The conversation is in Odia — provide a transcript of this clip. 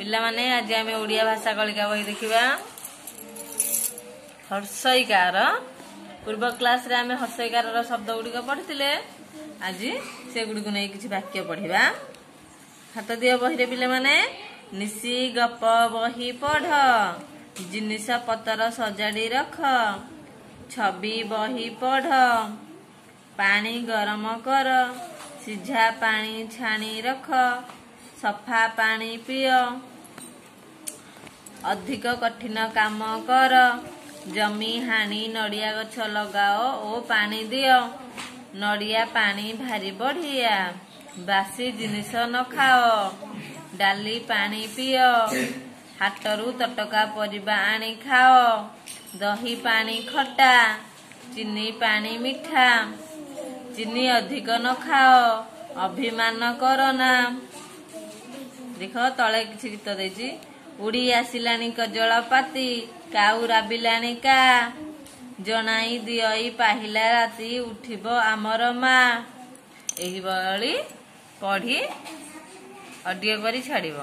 ପିଲାମାନେ, ଆଜି ଆମେ ଓଡ଼ିଆ ଭାଷା କଳିକା ବହି ଦେଖିବା ହର୍ଷଇକାର। ପୂର୍ବ କ୍ଲାସରେ ଆମେ ହର୍ଷଇକାରର ଶବ୍ଦ ଗୁଡ଼ିକ ପଢ଼ିଥିଲେ। ଆଜି ସେଗୁଡ଼ିକୁ ନେଇ କିଛି ବାକ୍ୟ ପଢ଼ିବା। ହାତ ଦିଅ ବହିରେ ପିଲାମାନେ। ନିଶି ଗପ ବହି ପଢ଼, ଜିନିଷ ପତର ସଜାଡ଼ି ରଖ, ଛବି ବହି ପଢ଼, ପାଣି ଗରମ କର, ସିଝା ପାଣି ଛାଣି ରଖ, ସଫା ପାଣି ପିଅ, ଅଧିକ କଠିନ କାମ କର, ଜମି ହାଣି ନଡ଼ିଆ ଗଛ ଲଗାଅ ଓ ପାଣି ଦିଅ, ନଡ଼ିଆ ପାଣି ଭାରି ବଢ଼ିଆ, ବାସି ଜିନିଷ ନ ଖାଅ, ଡାଲି ପାଣି ପିଅ, ହାଟରୁ ତଟକା ପରିବା ଆଣି ଖାଅ, ଦହି ପାଣି ଖଟା, ଚିନି ପାଣି ମିଠା, ଚିନି ଅଧିକ ନ ଖାଅ, ଅଭିମାନ କର ନା। ଦେଖ, ତଳେ କିଛି ଗୀତ ଦେଇଛି। ଉଡ଼ି ଆସିଲାଣି କଜଳପାତି, କାଉ ରାବିଲାଣି କା, ଜଣାଇ ଦିଅଇ ପାହିଲା ରାତି, ଉଠିବ ଆମର ମା। ଏହିଭଳି ପଢି ଅଡିଓ କରି ଛାଡ଼ିବ।